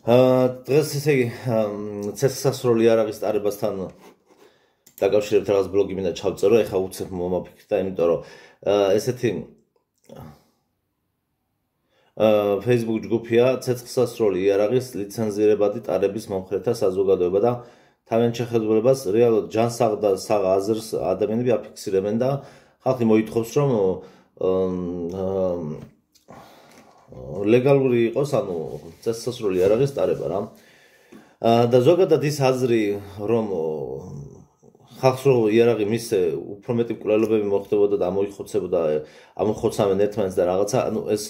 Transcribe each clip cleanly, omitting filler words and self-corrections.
დღეს ესე იგი ცეცხლსასროლი იარაღის ტარებასთან დაკავშირებით რაღაც ბლოგი მინდა ჩავწერო, ეხლა უცებ მომაფიქრდა, იმიტომ რომ ესეთი Facebook ჯგუფია ცეცხლსასროლი იარაღის ლიცენზირებადი ტარების მომხრეთა საზოგადოება და თავიანთ შეხედულებას რეალურად ჯანსაღ და საღ აზრს ადამიანები აფიქსირებენ და ხალხი მოითხოვს რომ ლეგალური იყოს, ანუ ცეცხლსასროლი იარაღის ტარება რა. და ზოგადად ის აზრი რომ ხალხს რო იარაღი მისცე უფრო მეტი მკვლელობები მოხდებოდა და ამოხოცავენ ერთმანეთს და რაღაცა, ანუ ეს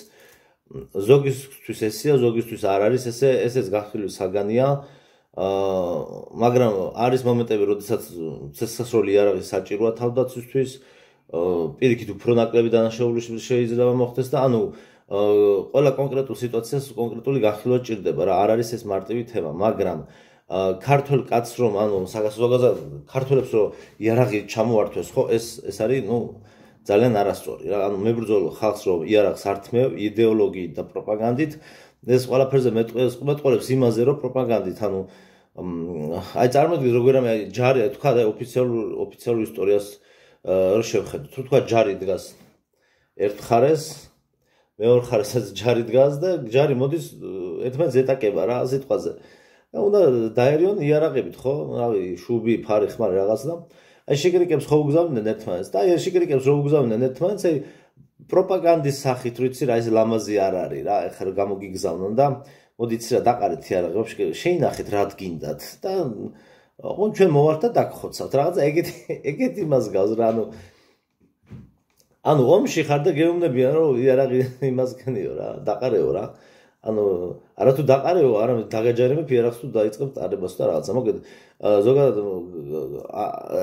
ზოგისთვის ესია, ზოგისთვის არ არის ესე, ესეც გახსნილი საგანია. მაგრამ არის მომენტები, როდესაც ცეცხლსასროლი იარაღი საჭიროა თავდაცვისთვის, პირიქით უფრო ნაკლები დანაშაული შეიძლება მოხდეს და ანუ ყველა კონკრეტულ სიტუაციას კონკრეტული გახილვა ჭირდება რა, არ არის ეს მარტივი თემა, მაგრამ ქართველ კაცს რომ ანუ ზოგადად ქართველებს რომ იარაღი ჩამოართვეს, ხო, ეს არის ძალიან არასწორი რა. ანუ მებრძოლ ხალხს რომ იარაღს ართმევ იდეოლოგიით და პროპაგანდით, ეს ყველაფერზე მეტყოლებს იმაზე რომ პროპაგანდით, ანუ აი წარმოგიდგენთ როგორ ჯარი თქვა და ოფიციალურ ისტორიას რო შევხედოთ, თუ თქვა ჯარი დგას ერთ მხარეს, მეორე მხარესაც ჯარი დგას და ჯარი მოდის ერთმანეთს ეტაკება რა სიტყვაზე. უნდა დაერიონ იარაღებით, ხო? რავი, შუბი, ფარი, ხმარი რაღაც და აი შეკრიკებს ხო უგზავნდნენ ერთმანეთს და აი შეკრიკებს რო უგზავნდნენ ერთმანეთს, აი პროპაგანდის სახით რო იცი რა, ეს ლამაზი არ არის რა, ეხლა გამოგიგზავნონ და მოდი იცი რა დაყარეთ იარაღი, ვაფშე შეინახეთ რა გინდათ და ჩვენ მოვართ და დაგხოცავთ რაღაცა ეგეთი იმას გავს რა, ანუ ომში ხარ და გეუბნებიან რომ იარაღი იმას ქნიო რა, დაყარეო რა. ანუ არა თუ დაყარეო, არამედ დაგაჯერებებ იარაღს თუ დაიწყებ ტარებას და რაღაცა. მოგეთ ზოგადად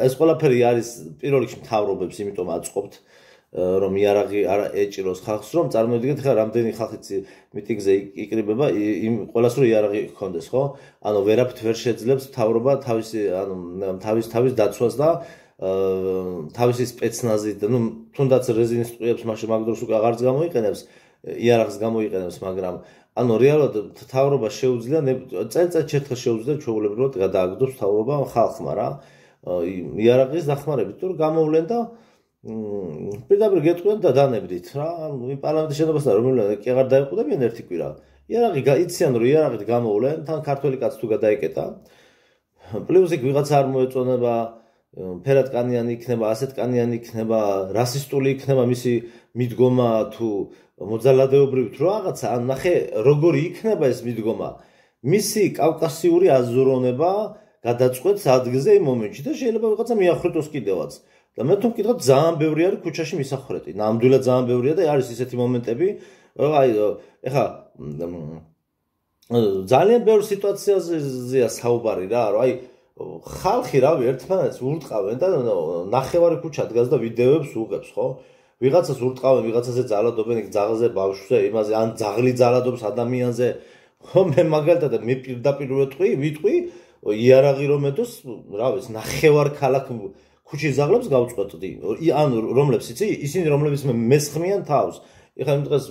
ეს ყველაფერი არის პირველ რიგში მთავრობებს, იმიტომ აწყობთ რომ იარაღი არ ეჭიროს ხალხს, რომ წარმოვიდგინეთ ხა რამდენი ხალხი მიტინგზე იკრიბება იმ ყველას რომ იარაღი ჰქონდეს, ხო? ანუ ვერაფრით ვერ შეძლებს მთავრობა თავის დაცვას და თავისი სპეცნაზით, თუნდაც რეზინის ტყუებს მაგ დროს უკვე აღარც გამოიყენებს, იარაღს გამოიყენებს, მაგრამ ანუ რეალურად მთავრობა შეუძლია წელიწადში ერთხელ შეუძლია ჩვეულებრივად გადააგდოს მთავრობა ხალხმა რა იარაღის დახმარებით, თუ გამოვლენ და პირდაპირ გეტყვიან და დანებდით რა. ანუ იმ პარლამენტის შენობასთან რომელიმე კი აღარ დაეყუდებიან ერთი კვირა. იარაღი იციან რომ იარაღით გამოვლენ, თან ქართველი კაცი თუ გადაიკეტა. პლუს იქ ვიღაცა არ მოეწონება, ფერადკანიანი იქნება, ასეთკანიანი იქნება, რასისტული იქნება მისი მიდგომა თუ მოძალადეობრივი თუ რაღაცა, ან ნახე როგორი იქნება ეს მიდგომა. მისი კავკასიური აზროვნება გადაწყვეტს ადგილზე იმ მომენტში და შეიძლება ვიღაცა მიახრეტოს კიდევაც. და მე თუ მკითხავთ, ძალიან ბევრი არის ქუჩაში მისახრეტი. ნამდვილად ძალიან ბევრია და არის ისეთი მომენტები, აი ეხა ძალიან ბევრ სიტუაციაზეა საუბარი რა, რომ აი ხალხი რავი ერთმანეთს ურტყავენ და ნახევარი ქუჩა დგას და ვიდეოებს უღებს, ხო? ვიღაცას ურტყავენ, ვიღაცაზე ძალადობენ, იქ ძაღლზე, ბავშვზე, იმაზე, ან ძაღლი ძალადობს ადამიანზე. ხო, მე მაგალითად მე პირდაპირ ვიტყვი, იარაღი რომ ედოს, რავი, ნახევარ ქალაქ ქუჩის ძაღლებს გავწყვეტდი. ანუ რომლებს იცი, ისინი რომლებიც მესხმიან თავს. ეხლა იმ დღეს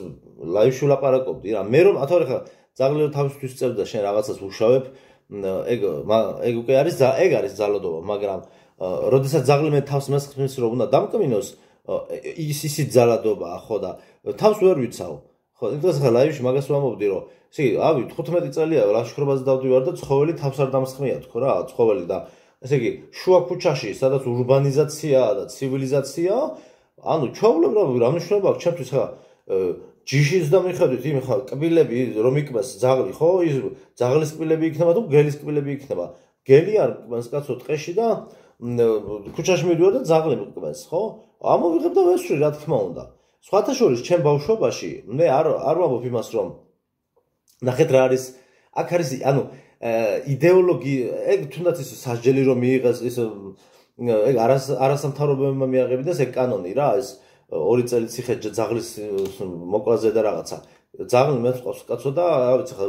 ლაივში ვლაპარაკობდი რა. მე რომ ათორე ხა ძაღლი რომ თავისთვის წევდა შენ რაღაცას უშავებ, ეგ უკვე არის ძალადობა, მაგრამ როდესაც ძაღლი მე თავს მესხმის რომ უნდა დამკმინოს, ისიც ძალადობაა, ხო და თავს ვერ ვიცავ. ხო, იმ დღეს ხა ლაივში მაგას ვამბობდი, რომ ისე ავი 15 წელია ლაშქრობაზე დავდივარ და ცხოველი თავს არ დამსხმია თქო რა, ცხოველი და ესე იგი შუა ქუჩაში, სადაც ურბანიზაციაა და ცივილიზაციაა, ანუ ჩვეულებრივ რა მნიშვნელობა აქვს ჩემთვის ხა ჯიშის და მიხედვით იმ ხა კბილები რომ იქნას ძაღლი, ხო? ის ძაღლის კბილები იქნება თუ გელის კბილები იქნება. გელი არ მკბანს კაცო ტყეში და ქუჩაში მიდივარ და ძაღლი მკბანს, ხო? ამოვიღებ და ვესვრი რა თქმა უნდა. სხვათა შორის ჩემ ბავშვობაში მე არ ვამბობ იმას რომ ნახეთ რა არის, აქ არის ანუ იდეოლოგია, ეგ თუნდაც ის სასჯელი რომ მიიღეს, ის ეგ არასამთავრობოებმა მიაღებინეს ეგ კანონი რა, ეს 2 წელი ციხე ძაღლის მოკლაზე და რაღაცა. ძაღლი მეწყობს კაცო და რა ვიცი ხა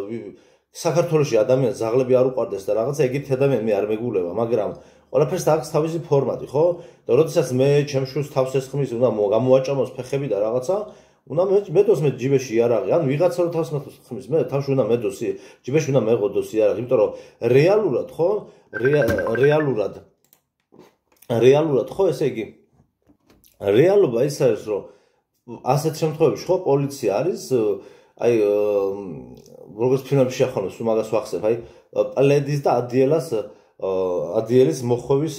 საქართველოში ადამიანს ძაღლები არ უყვარდეს და რაღაცა ეგეთი ადამიანი მე არ მეგულება, მაგრამ ყველაფერს აქვს თავისი ფორმატი, ხო? და როდესაც მე ჩემ შვილს თავს ესხმის, უნდა გამოვაჭამოს ფეხები და რაღაცა, უნდა მედოს მე ჯიბეში იარაღი, ანუ ვიღაცა რო თავს ხმის, მე თავში უნდა მედოს, ჯიბეში უნდა მეყოდოს იარაღი, იმიტომ რომ რეალურად ხო, რეალურად ხო, ესე იგი რეალობა ის არის, რომ ასეთ შემთხვევებში ხო პოლიცია არის, აი როგორც ფილმებში ახონებს, თუ მაგას ვახსენებ, აი პლედის და ადიელის მოხვევის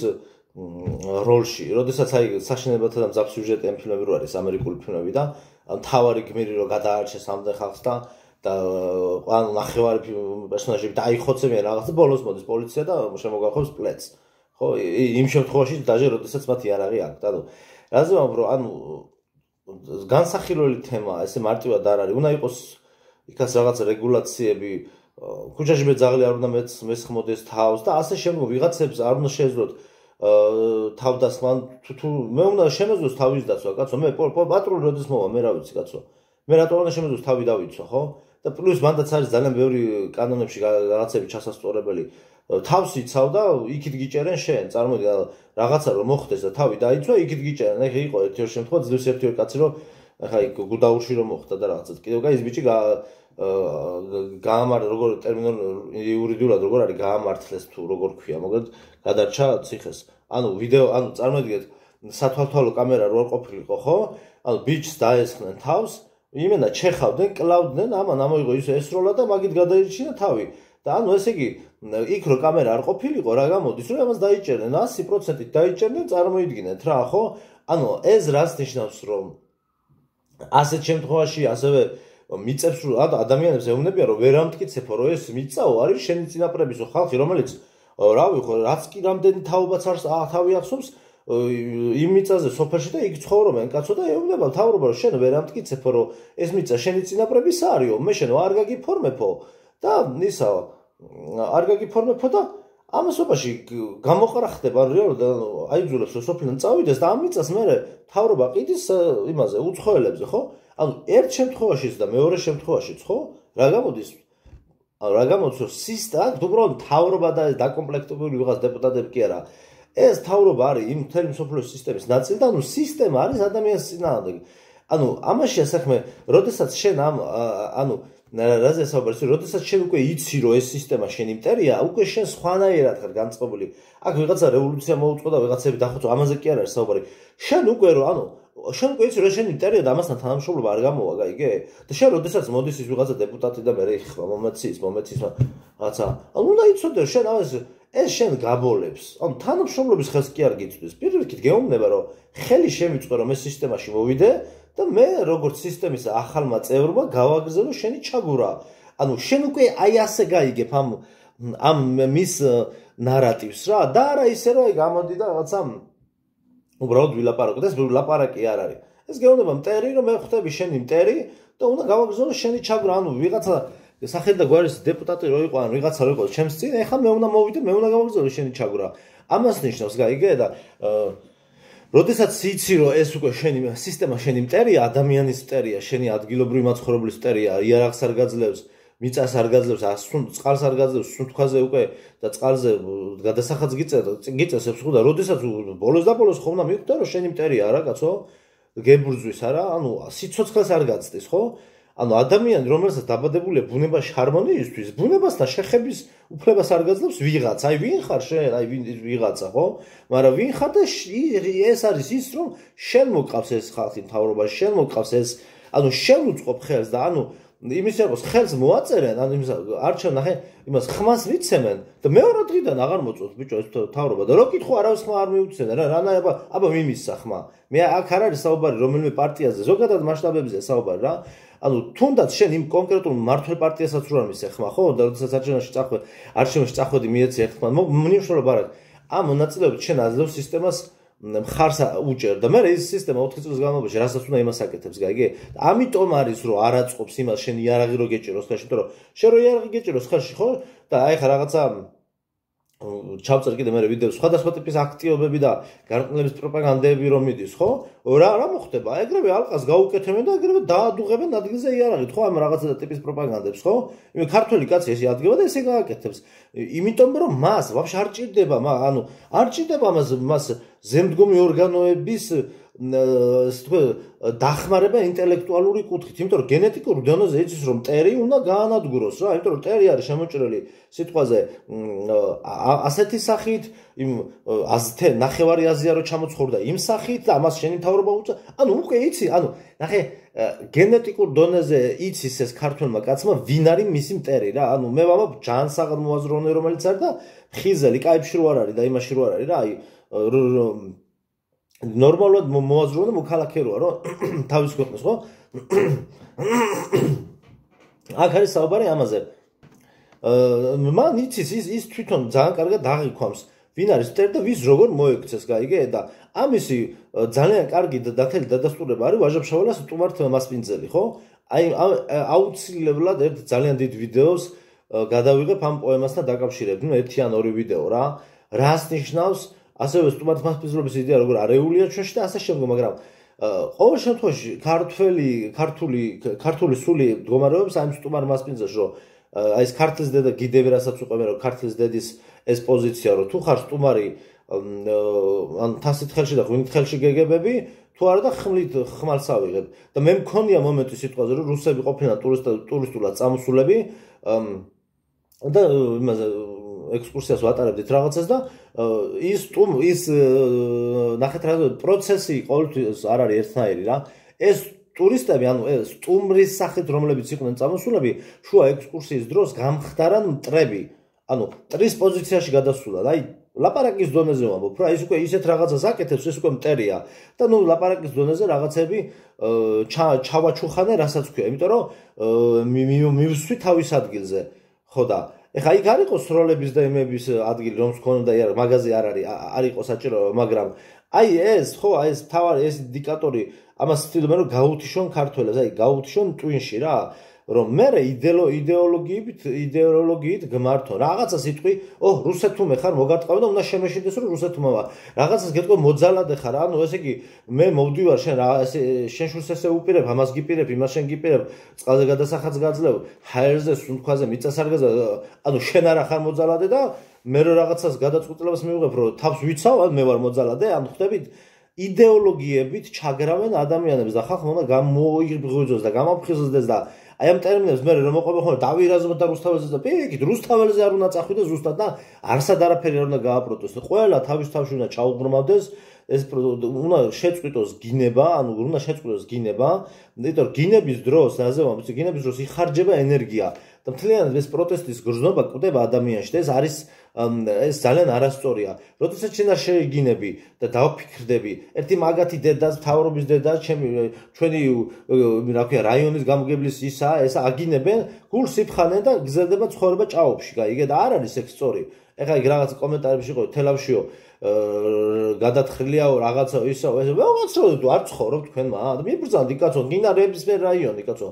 როლში, როდესაც აი საშინელებათა და მძაფ სიუჟეტიანი ფილმები რო არის ამერიკული ფილმები და მთავარი გმირი რო გადაარჩეს ამდენ ხალხს და ანუ ნახევარი პერსონაჟები დაიხოცებიან რაღაცა, ბოლოს მოდის პოლიცია და შემოგახობს პლედს. ხო, იმ შემთხვევაში დაჟე როდესაც მათ იარაღი აქვთ. ანუ რაზე ვამბობ, რომ ანუ განსახილველი თემაა, ესე მარტივად არ არის. უნდა იყოს იქაც რაღაც რეგულაციები, ქუჩაში მეძაღლი არ უნდა მესხმოდეს თავს და ასე შემდგომ ვიღაცებს არ უნდა შეეძლოთ თავდასხმა, თუ მე უნდა შემეძლოს თავის დაცვა, კაცო, მე პატრული როდის მოვა, მე რა ვიცი, კაცო. მე რატომ უნდა შემეძლოს თავი დავიცვა, ხო? და პლუს მანდაც არის ძალიან ბევრი კანონებში რაღაცები ჩასასწორებელი. თავს იცავ და იქით გიჭერენ შენ, წარმოიდგინე რაღაცა რომ მოხდეს და თავი დაიცვა, იქით გიჭერენ. ეხა იყო ერთი შემთხვევა, ძლივს ერთი კაცი რომ ეხა იქ გუდაურში რომ მოხდა და რაღაცა. კიდევ გაის ბიჭი გაამართლეს როგორ იურიდიულად როგორ არის გაამართლეს თუ როგორ ქვია, მაგრამ გადარჩა ციხეს. ანუ ვიდეო, ანუ წარმოიდგინეთ სათვალთვალო კამერა რო არ ყოფილიყო, ხო? ანუ ბიჭს დაესხნენ თავს, იმენა ჩეხავდნენ, კლავდნენ, ამან ამოიღო ის ესროლა და მაგით გადაირჩინა თავი. და ანუ ესე იგი იქ რო კამერა არ ყოფილიყო, რა გამოდის, რომ ამას დაიჭერნენ 100%-ით დაიჭერნენ, წარმოიდგინეთ რა, ხო? ანუ ეს რას ნიშნავს, რომ ასეთ შემთხვევაში ასევე მიწებს რომ ადამიანებს ეუბნებიან რომ ვერ ამტკიცებო რომ ეს მიწაო არის შენი წინაპრებისო ხალხი რომელიც რავი ხო რაც კი რამდენი თაობაც არის თავი ახსოვს იმ მიწაზე სოფელში და იქ ცხოვრობენ კაცო და ეუბნება მთავრობა რომ შენ ვერ ამტკიცებო რომ ეს მიწა შენი წინაპრების არისო მე შენ არ გაგიფორმებო და ისა არ გაგიფორმებო და ამასობაში გამოყარა ხდება რეალურად აიძულებს რომ სოფლიდან წავიდეს და ამ მიწას მე მთავრობა ყიდის იმაზე უცხოელებზე ხო ანუ ერთ შემთხვევაშიც და მეორე შემთხვევაშიც ხო რა გამოდის რომ სისტემა უბრალოდ მთავრობა და დაკომპლექტებული ვიღაც დეპუტატები კი არა ეს მთავრობა არის იმ მთელი მსოფლიოს სისტემის ნაწილი და ანუ სისტემა არის ადამიანის წინააღმდეგ ანუ ამაშია საქმე როდესაც შენ ანუ რაზე საუბარს როდესაც შენ უკვე იცი რომ ეს სისტემა შენ იმტერია უკვე შენ სხვანაირად ხარ განწყობილი აქ ვიღაცა რევოლუცია მოუწყო და ვიღაცები დახოცო ამაზე კი არ არის საუბარი შენ უკვე რომ ანუ შენ უკვე იცი რომ შენ იმტერია და ამასთან თანამშრომლობა არ გამოვა გაიგე და შენ როდესაც მოდის ის ვიღაცა დეპუტატი და მე ეხება მომეცის რაღაცა ანუ უნდა იცოდე რომ შენ ეს შენ გაბოლებს ანუ თანამშრომლობის ხელს კი არ გიწვდის პირველ რიგით გეუბნება რომ ხელი შემიწყო რომ ეს სისტემაში მოვიდე და მე როგორც სისტემის ახალმა წევრმა გავაგრძელო შენი ჩაგურა. ანუ შენ უკვე აი ასე გაიგებ ამ მის ნარატივს რა და არა ისე რომ აი გამოდი და რაღაცა უბრალოდ ვილაპარაკო და ეს ლაპარაკი არ არის. ეს გეუბნება მტერი რომ მე ხვდები შენი მტერი და უნდა გავაგრძელო შენი ჩაგურა. ანუ ვიღაცა სახელი და გვარის დეპუტატი რო იყო ან ვიღაცა რო იყო ჩემს წინ ეხლა მე უნდა მოვიდე მე უნდა გავაგრძელო შენი ჩაგურა. ამას ნიშნავს გაიგე და როდესაც იცი რომ ეს უკვე შენი სისტემა შენი მტერია, ადამიანის მტერია, შენი ადგილობრივი მაცხოვრებლის მტერია, იარაღს არ გაძლევს, მიწას არ გაძლევს, წყალს არ გაძლევს, სუნთქვაზე უკვე და წყალზე გადასახადს გიწესებს ხო და როდესაც ბოლოს და ბოლოს ხო უნდა მიხვდე რომ შენი მტერია არა კაცო? გებრძვის არა? ანუ სიცოცხლეს არ გაცდის ხო? ანუ ადამიანი რომელსაც დაბადებულია ბუნებაში ჰარმონიისთვის, ბუნებასთან შეხების უფლებას არ გაძლევს ვიღაც. აი ვინ ხარ შენ? აი ვიღაცა, ხო? მაგრამ ვინ ხარ და ეს არის ის რომ შენ მოგყავს ეს ხალხი მთავრობაში, შენ მოგყავს ეს, ანუ შენ უწყობ ხელს და ანუ იმის იყოს ხელს მოაწერენ, ანუ იმის არჩევ ნახე, იმას ხმას მიცემენ და მეორე დღიდან აღარ მოწონს ბიჭო ეს მთავრობა და რო კითხო არავის ხმა არ მიუცენ რა, რანაირ აბა მიმისსა ხმა. მე აქ არ არის საუბარი რომელიმე პარტიაზე, ზოგადად მასშტაბებზე საუბარი რა. ანუ თუნდაც შენ იმ კონკრეტულ მმართველ პარტიასაც რო არ მისე ხმა, ხო? და როდესაც არჩევნებში წახვედი მიეცი ერთხმად, მნიშვნელობა არ აქვს. ამ მონაწილეობით შენ აძლევ სისტემას მხარს უჭერ და მე ის სისტემა 4 წლის განმავლობაში რასაც უნდა იმას აკეთებს, გაიგე? ამიტომ არის რომ არ აწყობს იმას შენ იარაღი რო გეჭიროს ხელში, იმიტომ რომ შენ რო იარაღი გეჭიროს ხელში, ხო? და აი ხა რაღაცა ჩავწერ კიდე მე ვიდეო სხვადასხვა ტიპის აქტივობები და გარყვნილების პროპაგანდები რომ მიდის, ხო? რა მოხდება? ეგრევე ალყას გაუკეთებენ და ეგრევე დაადუღებენ ადგილზე იარაღით, ხო? ამ რაღაცა ტიპის პროპაგანდებს, ხო? იმე ქართველი კაცი ესე ადგება და ესე გააკეთებს. იმიტომ რომ მას ვაფშე არ ჭირდება, ანუ არ ჭირდება მას ზემდგომი ორგანოების დახმარება ინტელექტუალური კუთხით, იმიტომ რომ გენეტიკურ დონეზე იცის რომ მტერი უნდა გაანადგუროს რა, იმიტომ რომ მტერი არის შემოჭრილი სიტყვაზე ასეთი სახით, იმ ნახევარი აზია რო ჩამოცხოვრდა იმ სახით და ამას შენი მთავრობა უწევ. ანუ უკვე იცი, ანუ ნახე გენეტიკურ დონეზე იცის ეს ქართველმა კაცმა ვინ არის მისი მტერი რა. ანუ მე ვამბობ ჯანსაღად მოაზროვნე რომელიც არის და ხიზელი კაიფში რო არ არის და იმაში რო არ არის რა, აი ნორმალურად მოაზროვნე მოქალაქე როა რომ თავის ქვეყნას ხო? აქ არის საუბარი ამაზე. მან იცის ის თვითონ ძალიან კარგად აღიქვამს ვინ არის მტერი და ვის როგორ მოექცეს გაიგე და ამისი ძალიან კარგი დათელი დადასტურება არის ვაჟა-ფშაველას სტუმართ მასპინძელი ხო? აი აუცილებლად ერთ ძალიან დიდ ვიდეოს გადავიღებ ამ პოემასთან დაკავშირებით. ნუ ერთი ან ორი ვიდეო რა. რას ნიშნავს ასევე სტუმართ მასპინძლობის იდეა როგორ არეულია ჩვენში და ასე შემდგომ, მაგრამ ყოველ შემთხვევაში ქართული სული მდგომარეობს ამ სტუმარ მასპინძელს რომ აი ეს ქართლის დედა გიდები რასაც უყევენ რომ ქართლის დედის ეს პოზიცია რომ თუ ხარ სტუმარი ან თასით ხელში და ღვინით ხელში გეგებები თუ არა და ხმალს ავიღებ და მე მქონია მომენტი სიტყვაზე რომ რუსები ყოფილან ტურისტულად წამოსულები და იმაზე ექსკურსიას ვატარებდით რაღაცას და ის ნახეთ რა პროცესი ყოველთვის არ არის ერთნაირი რა. ეს ტურისტები, ანუ სტუმრის სახით რომლებიც იყვნენ წამოსულები, შუა ექსკურსიის დროს გამხდარან მტრები. ანუ მტრის პოზიციაში გადასულან. აი ლაპარაკის დონეზე ვამბობ რა, ის უკვე ისეთ რაღაცას აკეთებს, ეს უკვე მტერია. და ნუ ლაპარაკის დონეზე რაღაცები ჩავაჩუხანე, რასაც ქვია, იმიტომ რომ მივსვი თავის ადგილზე. ხო და ეხა იქ არ იყოს როლების და იმების ადგილი რომ მქონდა მაგაზე არ იყო საჭირო, მაგრამ აი ეს ხო, აი ეს თავარი ეს ინდიკატორი ამას ვთვლი რომ გაუთიშონ ქართველებს, აი გაუთიშონ ტვინში რა, რომ მე იდეოლოგიით გმართო. რაღაცა სიტყვი, რუსეთუმე ხარ მოგარტყავ და უნდა შემეშინდეს რომ რუსეთუმეა. რაღაცას გეტყვი მოძალადე ხარ, ანუ ესე იგი მე მოვდივარ შენ რა შენ შულს ესე უპირებ, ამას გიპირებ, იმას შენ გიპირებ, წყალზე გადასახაც გაძლევ, ჰაერზე, სუნთქვაზე, მიწასარგეზე, ანუ შენ არა ხარ მოძალადე და მე რო რაღაცას გადაწყვეტილებას მივიღებ რომ თავს ვიცავ, ან მე ვარ მოძალადე, ანუ ხდებით იდეოლოგიებით ჩაგრავენ ადამიანებს და ხალხმა უნდა გამოიღვიძოს და გამაფხიზლდეს და აი ამ ტერმინებს მე რომ მოყვება ხოლმე დავირაზმოთ და რუსთაველზე და პირიქით რუსთაველზე არ უნდა წახვიდე ზუსტად და არსად არაფერი არ უნდა გააპროტესტო. ყველა თავის თავში უნდა ჩაუბრმავდეს ეს უნდა შეწყვიტოს გინება, ანუ უნდა შეწყვიტოს გინება, იმიტომ რომ გინების დროს, რაზე ვამბობ, გინების დროს იხარჯება ენერგია და მთლიანად ეს პროტესტის გრძნობა კვდება ადამიანში და ეს ძალიან არასწორია. როდესაც შენ არ შეიგინები და დავფიქრდები, ერთი მაგათი დედას, მთავრობის დედას, ჩვენი რა ქვია, რაიონის გამგებლის ისაა, ეს აგინებენ, გულს იფხანენ და გზელდება ცხოვრება ჭაობში, გაიგე და არ არის ეს სწორი. ეხლა იქ რაღაც კომენტარებში იყო თელავშიო გადათხრილიაო რაღაცა ისო ეს ვაცროდეთ არ ცხოვრობ თქვენმა და მიბრძანდი კაცო გინდა რებისფერ რაიონი კაცო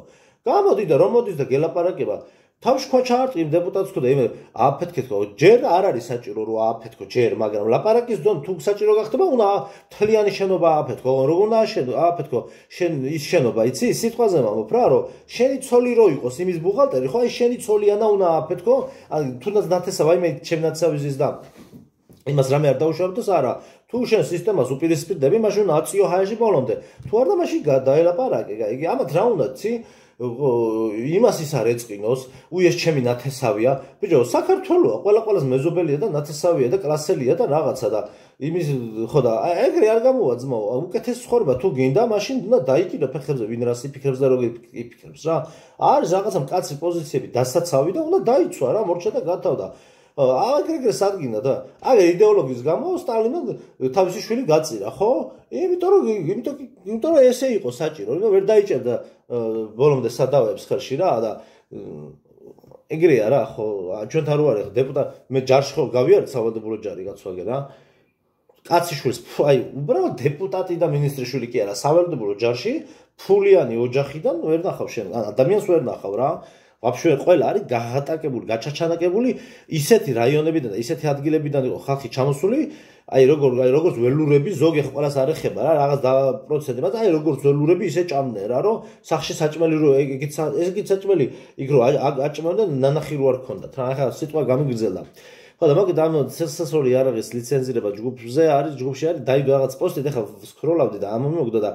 გამოდი და რომ მოდის და გელაპარაკება თავშქვა ჩაარტყიმ დეპუტატს ხო და იმე ააფეთქეთო ჯერ არ არის საჭირო რომ ააფეთქო ჯერ მაგრამ ლაპარაკის დონ თუ საჭირო გახდება უნდა თლიანი შენობა ააფეთქო როგორ უნდა ააფეთქო შენ ის შენობა იცი სიტყვაზე ვამბობ რა რომ შენი ცოლი რო იყოს იმის ბუღალტერი ხო აი შენი ცოლიანა უნდა ააფეთქო ან თუნდაც ნათესავ აი მე ჩემ ნათესავიზის და იმას რამე არ დაუშავდეს არა თუ შენ სისტემას უპირისპირდები მაშინ აციო ჰაერში ბოლომდე თუ არ და მაშინ გადაელაპარაკე იგი ამათ რა უნდა ცი იმას ის არ ეწყინოს უეს ჩემი ნათესავია ბიჭო საქართველოა ყველას მეზობელია და ნათესავია და კლასელია და რაღაცა და იმის ხო და ეგრე არ გამოვა ძმაო უკეთეს ცხოვრება თუ გინდა მაშინ უნდა დაიკიდო ფეხებზე ვინ რას იფიქრებს და როგორ იფიქრებს რა არის რაღაცა მკაცრი პოზიციები დასაცავი და უნდა დაიცვა რა მორჩა და გათავდა აგრეგრე სადგინა და აგერ იდეოლოგიის გამო სტალინმა თავისი შვილი გაწირა ხო? იმიტომ რომ ესე იყო საჭირო, რომ ვერ დაიჭერდა ბოლომდე სადავეებს ხელში რა და ეგრეა რა ხო ჩვენთან რო არის დეპუტატ მე ჯარში ხო გავიარეთ სავალდებულო ჯარი გაცვაგე რა კაცი შვილს აი უბრალოდ დეპუტატი და მინისტრის შვილი კი არა სავალდებულო ჯარში ფულიანი ოჯახიდან ვერ ნახავ შენ ადამიანს ვერ ნახავ რა ვაფშე ყველა არის გაღატაკებული, გაჩაჩანაკებული ისეთი რაიონებიდან და ისეთი ადგილებიდან იყო ხალხი ჩამოსული, აი როგორც ველურები ზოგი ყველას არ ეხება რა, რაღაც პროცენტი, მაგრამ აი როგორც ველურები ისე ჭამდნენ რა, რომ სახში საჭმელი რო ეგეც საჭმელი იქ რო აჭმევდნენ ნანახი რო არ ქონდათ რა, ახლა სიტყვა გამიგრძელდა. ხო და მოგეთ ამ ცეცხლსასროლი იარაღის ლიცენზირება ჯგუფში არის დაიდო რაღაც პოსტით ეხლა სკროლავდი და ამ მოგდა და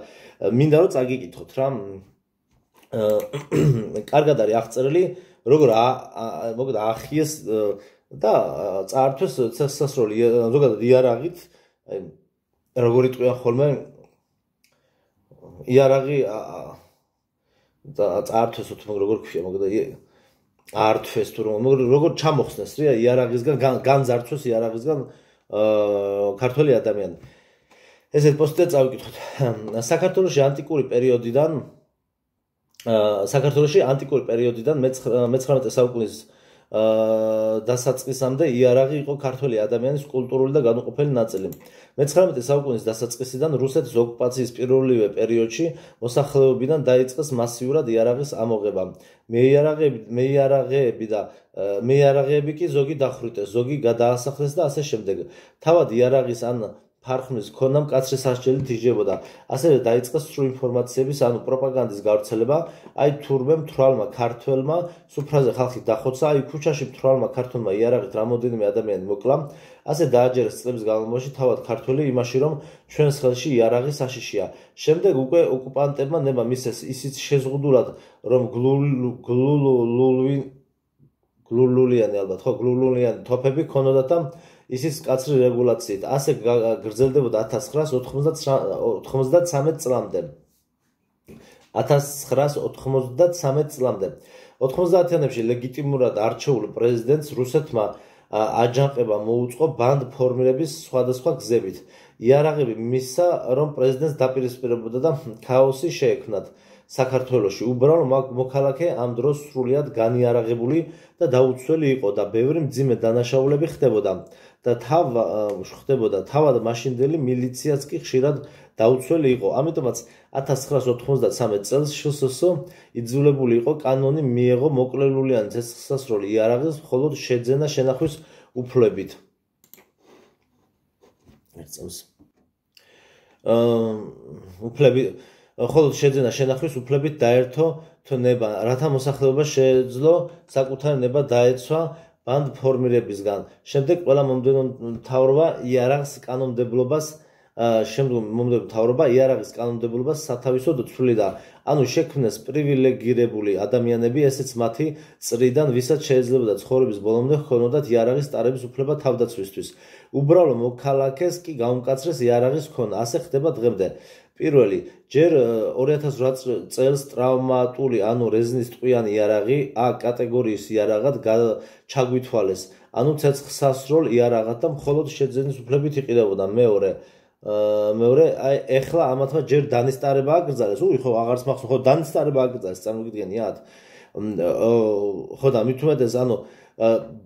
მინდა რომ წაგიკითხოთ რა კარგად არის აღწერილი როგორ მოგეთ აახიეს და წაართვეს ცეცხლსასროლი ზოგადად იარაღით აი როგორ იტყვიან ხოლმე იარაღი და წაართვეს თუ როგორ ქვია მოგეთ ართვეს თუ როგორ ჩამოხსნეს რა იარაღისგან განძარცვეს იარაღისგან ქართველი ადამიანი ესეთ პოსტზე წავიკითხოთ საქართველოში ანტიკური პერიოდიდან მე-19 საუკუნის დასაწყისამდე იარაღი იყო ქართველი ადამიანის კულტურული და განუყოფელი ნაწილი. მე-19 საუკუნის დასაწყისიდან რუსეთის ოკუპაციის პირველივე პერიოდში მოსახლეობიდან დაიწყეს მასიურად იარაღის ამოღება. მეიარაღეები კი ზოგი დახვრიტეს, ზოგი გადაასახლეს და ასე შემდეგ. თავად იარაღის ან ფარხმის ქონა მკაცრი სასჯელით იჯდებოდა. ასევე დაიწყეს სრულ ინფორმაციების ანუ პროპაგანდის გავრცელება, აი თურმე მთვრალმა ქართველმა სუფრაზე ხალხი დახოცა, აი ქუჩაში მთვრალმა ქართველმა იარაღით რამოდენიმე ადამიანი მოკლა, ასე დააჯერეს წლების განმავლობაში თავად ქართველი იმაში, რომ ჩვენს ხელში იარაღი საშიშია. შემდეგ უკვე ოკუპანტებმა ნება მისცეს ისიც შეზღუდულად, რომ გლულულიანი თოფები ქონოდათ და ისიც კაცრი რეგულაციით. ასე გრძელდებოდა 1993 წლამდე. 90-იანებში ლეგიტიმურად არჩეულ პრეზიდენტს რუსეთმა აჯანყება მოუწყო ბანდ ფორმირების სხვადასხვა გზებით. იარაღები მისცა, რომ პრეზიდენტს დაპირისპირებოდა და ქაოსი შეექმნათ. საქართველოში უბრალო მოქალაქე ამ დროს სრულიად განიარაღებული და დაუცველი იყო და ბევრი მძიმე დანაშაულები ხდებოდა. თავად მაშინდელი მილიციაც კი ხშირად დაუცველი იყო. ამიტომაც 1993 წელს შსს იძულებული იყო კანონი მიეღო მოკლელულიანი ცეცხლსასროლი იარაღის მხოლოდ შეძენა შენახვის უფლებით. მხოლოდ შეძენა შენახვის უფლებით დაერთო ნება, რათა მოსახლეობა შეეძლო საკუთარი ნება დაეცვა ბანდ ფორმირებისგან. შემდეგ ყველა მომდევნო მთავრობა იარაღის კანონმდებლობას სათავისოდ ცვლიდა. ანუ შექმნეს პრივილეგირებული ადამიანები, ესეც მათი წრიდან, ვისაც შეეძლებოდა ცხოვრების ბოლომდე ჰქონოდათ იარაღის ტარების უფლება თავდაცვისთვის. უბრალო მოქალაქეს კი გაუმკაცრეს იარაღის ქონა. ასე ხდება დღემდე. პირველი, ჯერ 2008 წელს ტრავმატული, ანუ რეზინის ტყვიანი იარაღი A კატეგორიის იარაღად ჩაგვითვალეს, ანუ ცეცხლსასროლ იარაღად და მხოლოდ შეძენის უფლებით იყიდებოდა. მეორე, აი ეხლა ამათმა ჯერ დანისტარება აკრძალეს. ხო, აღარც მახსოვს, ხო დანისტარება აკრძალეს, წარმოგიდგენიათ? ხო და მით უმეტეს, ანუ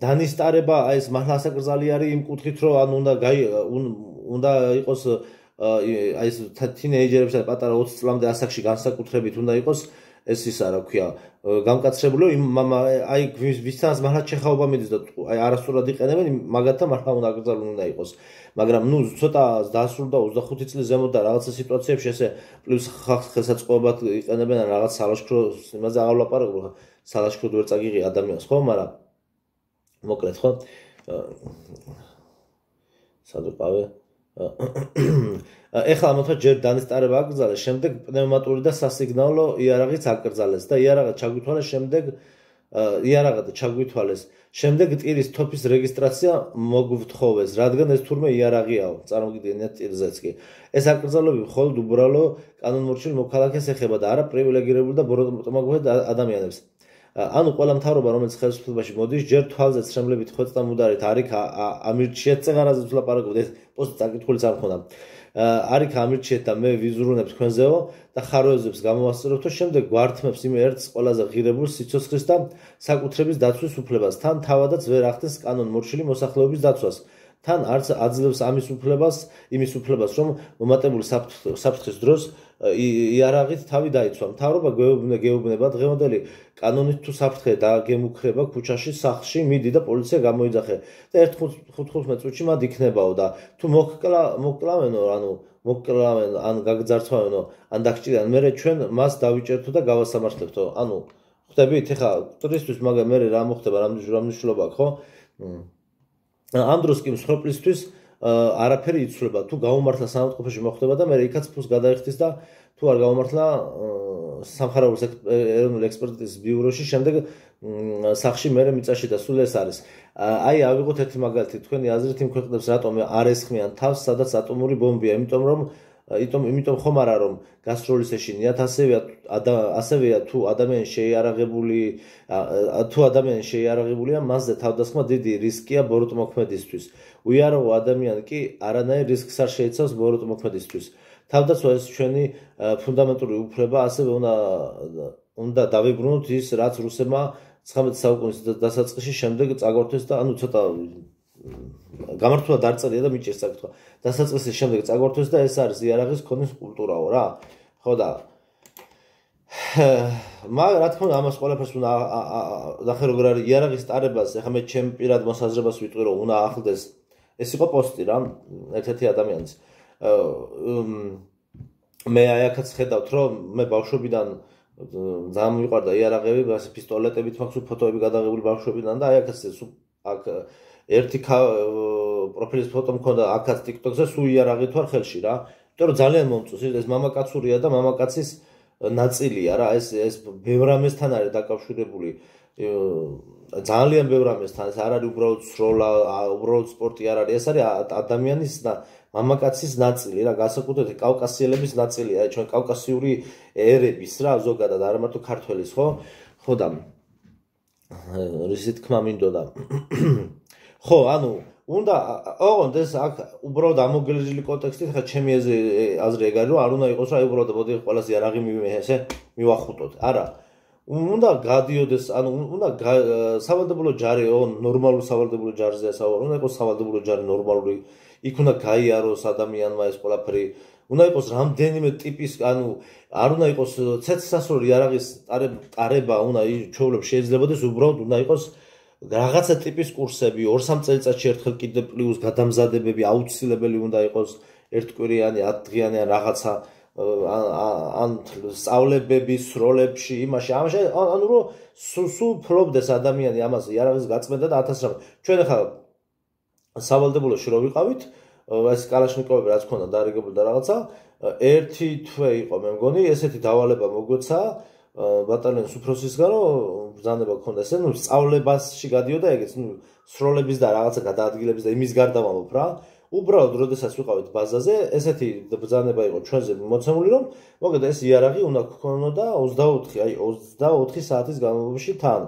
დანისტარება აი ეს მართლა ასაკრძალი არის იმ კუთხით, რომ ანუ უნდა იყოს აი ეს თინეიჯერებს და პატარა 20 წლამდე ასაკში განსაკუთრებით უნდა იყოს ეს ისა რა ქვია გამკაცრებული აი ვისთანაც მართლა ჩეხაობა მიდის და აი არასწორად იყენებენ მაგათთან მართლა უნდა აკრძალული უნდა იყოს მაგრამ ნუ ცოტა დასრულდა 25 წლის ზემოთ და რაღაცა სიტუაციებში ესე პლუს ხალხს ხელსაწყოებად იყენებენ ან რაღაც სალაშქროს იმაზე აღარ ვლაპარაკობ სალაშქროდ ვერ წაგიღი ადამიანს ხო მაგრამ მოკლედ ხო სადუყავე ეხლა ამათმა ჯერ დანისტარება აკრძალეს, შემდეგ პნევმატური და სასიგნალო იარაღიც აკრძალეს და იარაღად ჩაგვითვალეს. შემდეგ ტირის თოფის რეგისტრაცია მოგვთხოვეს, რადგან ეს თურმე იარაღიაო, წარმოგიდგენიათ ტირზეც კი. ეს აკრძალვები მხოლოდ უბრალო კანონმორჩილ მოქალაქეს ეხება და არა პრივილეგირებულ და ბოროტმოქმედ ადამიანებს. ანუ ყველა მთავრობა, რომელიც ხელისუფლებაში მოდის, ჯერ თვალზე ცრემლებით ხვეწდა მუდარით, არიქ ამირჩიეთ წეღარაზე ვლაპარაკობთ, ეს პოსტი წაკითხულიც არ მქონდა. არიქ ამირჩიეთ და მე ვიზრუნებ თქვენზეო და ხაროეზებს გამოვასწორებთ, შემდეგ გვართმებს იმ ერთს ყველაზე ღირებულ სიცოცხლის და საკუთრების დაცვის უფლებას, თან თავადაც ვერ ახდენს კანონმორჩილი მოსახლეობის დაცვას. თან არც აძლევს იმის უფლებას, რომ მომატებული საფრთხის დროს იარაღით თავი დაიცვა. მთავრობა გეუბნება დღევანდელი კანონით თუ საფრთხე დაგემუქრება ქუჩაში, სახლში მიდი და პოლიცია გამოიძახე და 1-15 წუთში მათ იქნებაო და თუ მოკლავენო, ან გაგძარცვავენო, ან დაგჭირან, მერე ჩვენ მას დავიჭერთო და გავასამართლებთო. ანუ ხვდებით, ეხა ტურისტვის მაგრამ მერე რა მოხდება, რა მნიშვნელობა აქვს, ხო? ამ დროს კი მსხვერპლისთვის არაფერი იცვლება. თუ გაუმართლა სამართყოფოში მოხდება და მე იქაც ფულს გადაიხდის და თუ არ გაუმართლა სამხაროების ეროვნული ექსპერტიზის ბიუროში, შემდეგ სახში მე მიწაში და სულ ეს არის. აი ავიღოთ ერთი მაგალითი, თქვენი აზრით იმ ქვეყნებს რატომ არ ესხმიან თავს, სადაც ატომური ბომბია, იმიტომ ხომ არა რომ გასტროლის ეშინიათ, ასევეა თუ ადამიანი შეიარაღებულია, მასზე თავდასხმა დიდი რისკია ბოროტმოქმედისთვის. უიარაღო ადამიანი კი არანაირ რისკს არ შეიცავს ბოროტმოქმედისთვის. თავდაცვა ეს ჩვენი ფუნდამენტური უფლება, ასევე უნდა დავიბრუნოთ ის, რაც რუსებმა 19 საუკუნის დასაწყისში შემდეგ წაგვართვეს და ცოტა გამართულად არ წერია და მიჭირს საკითხვა. დასაწყისის შემდეგ წაგვართვეს და ეს არის იარაღის ქონის კულტურაო რა. ხო და მაგრამ რა თქმა უნდა ამას ყველაფერს უნდა ნახე როგორ არის იარაღის ტარებას, ეხლა მე ჩემ პირად მოსაზრებას ვიტყვი რომ უნდა ახლდეს. ეს იყო პოსტი რა, ერთ-ერთი ადამიანის. მე აი აქაც ხედავთ რომ მე ბავშვობიდან ძალიან მიყვარდა იარაღები, პისტოლეტებით მაქვს ფოტოები გადაღებული ბავშვობიდან და აი აქაც აქ ერთი პროფილის ფოტო მქონდა აქაც TikTok-ზე, სულ იარაღით ვარ ხელში რა. იმიტომ რომ ძალიან მომწონს, ეს მამაკაცურია და მამაკაცის ნაწილია რა, ეს ბევრ რამესთან არის დაკავშირებული. ძალიან ბევრ რამესთან, ეს არ არის უბრალოდ სროლა, უბრალოდ სპორტი არ არის, ეს არის ადამიანის და მამაკაცის ნაწილი რა, განსაკუთრებით კავკასიელების ნაწილია, ჩვენ კავკასიური ერების რა, ზოგადად არა მარტო ქართველის, ხო? ხო და რისი თქმა მინდოდა. ხო, უნდა ოღონდ ეს აქ უბრალოდ ამოგელეჟილი კონტექსტით, ხა ჩემი აზრი ეგ არის, რომ არ უნდა იყოს რა, უბრალოდ მოდი ყველას იარაღი მივახუტოთ. არა. უნდა გადიოდეს, უნდა სავალდებულო ჯარი, ნორმალური სავალდებულო ჯარზეა საუბარი, უნდა იყოს სავალდებულო ჯარი ნორმალური, იქ უნდა გაიაროს ადამიანმა ეს ყველაფერი, უნდა იყოს რამდენიმე ტიპის, არ უნდა იყოს ცეცხლსასროლი იარაღის ტარება, უნდა ჩვეულებრივ შეიძლებადეს, უბრალოდ უნდა იყოს რაღაცა ტიპის კურსები, 2-3 წელიწადში ერთხელ კიდე პლუს გადამზადებები აუცილებელი უნდა იყოს ერთკვირიანი, 10 დღიანი ან რაღაცა ან სწავლებების სროლებში, იმაში, რომ სულ ფლობდეს ადამიანი ამას იარაღის გაწმენდა და 1000 რამ. ჩვენ ახლა სავალდებულოში რო ვიყავით, ეს კალაშნიკოვები რაც ქონდა დარიგებული და რაღაცა, ერთი თვე იყო მე მგონი, ესეთი დავალება მოგვეცა ბატალიონის უფროსისგან, რომ ბრძანება ქონდა ესე, სწავლებაში გადიოდა ეგეც, სროლების და რაღაცა გადაადგილების და იმის გარდა ვამბობ რა. უბრალოდ როდესაც ვიყავით ბაზაზე, ესეთი ბრძანება იყო ჩვენზე მოცემული, რომ მოგედა ეს იარაღი უნდა გქონოდა 24 საათის განმავლობაში თან.